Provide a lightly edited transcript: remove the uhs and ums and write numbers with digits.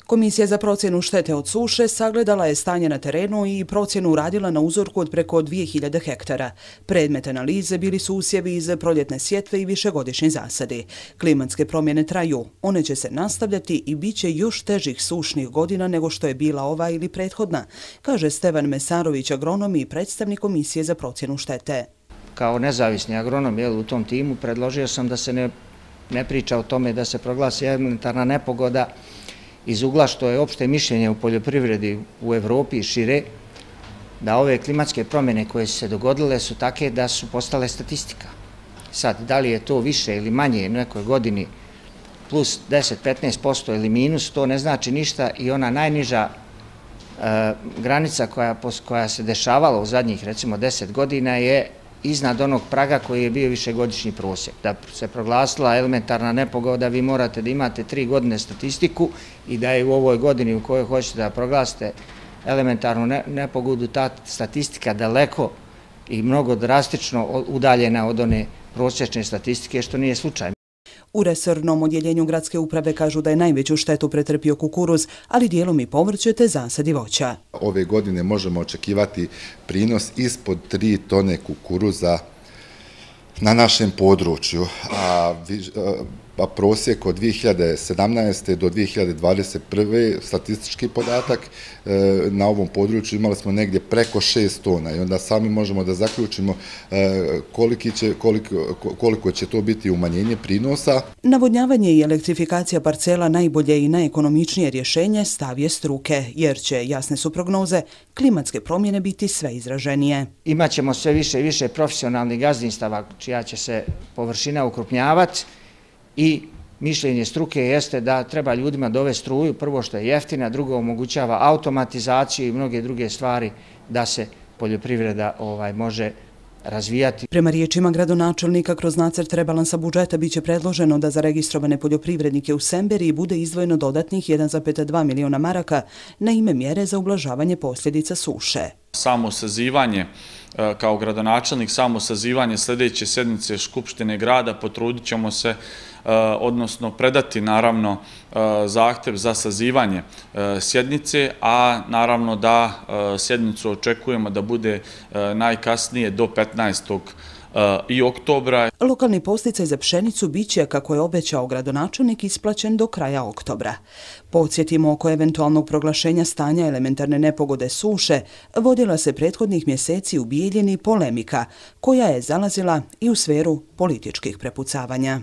Komisija za procjenu štete od suše sagledala je stanje na terenu i procjenu uradila na uzorku od preko 2000 hektara. Predmet analize bili su usjevi iz proljetne sjetve i višegodišnji zasadi. Klimatske promjene traju, one će se nastavljati i bit će još težih sušnih godina nego što je bila ova ili prethodna, kaže Stevan Mesarović, agronom i predstavnik Komisije za procjenu štete. Kao nezavisni agronom u tom timu predložio sam da se ne priča o tome da se proglasi elementarna nepogoda iz ugla što je opšte mišljenje u poljoprivredi u Evropi i šire, da ove klimatske promjene koje su se dogodile su take da su postale statistika. Sad, da li je to više ili manje u nekoj godini plus 10-15% ili minus, to ne znači ništa i ona najniža granica koja se dešavala u zadnjih recimo 10 godina je iznad onog praga koji je bio višegodišnji prosjek. Da se proglasila elementarna nepogoda, vi morate da imate 3 godine statistiku i da je u ovoj godini u kojoj hoćete da proglasite elementarnu nepogodu ta statistika daleko i mnogo drastično udaljena od one prosječne statistike, što nije slučaj. U resornom odjeljenju gradske uprave kažu da je najveću štetu pretrpio kukuruz, ali dijelom i povrće te zasadi voća. Ove godine možemo očekivati prinos ispod 3 tone kukuruza na našem području, a prosjek od 2017. do 2021. statistički podatak na ovom području imali smo negdje preko 6 tona i onda sami možemo da zaključimo koliko će to biti umanjenje prinosa. Navodnjavanje i elektrifikacija parcela najbolje i najekonomičnije rješenje stav je struke, jer će, jasne su prognoze, klimatske promjene biti sve izraženije. Imaćemo sve više i više profesionalnih gazdinstava čija će se površina ukrupnjavati, i mišljenje struke jeste da treba ljudima dovesti struju, prvo što je jeftina, drugo omogućava automatizaciju i mnoge druge stvari da se poljoprivreda može razvijati. Prema riječima gradonačelnika, kroz nacrt rebalansa budžeta biće predloženo da za registrovane poljoprivrednike u Semberiji bude izdvojeno dodatnih 1,2 miliona maraka na ime mjere za ublažavanje posljedica suše. Samo sazivanje, kao gradonačelnik, samo sazivanje sljedeće sjednice Skupštine grada potrudit ćemo se, odnosno predati naravno zahtjev za sazivanje sjednice, a naravno da sjednicu očekujemo da bude najkasnije do 15. i oktobra. Lokalni podsticaj za pšenicu biće, kako je obećao gradonačelnik, isplaćen do kraja oktobra. Podsjetimo, oko eventualnog proglašenja stanja elementarne nepogode suše vodila se prethodnih mjeseci u Bijeljini polemika, koja je zalazila i u sferu političkih prepucavanja.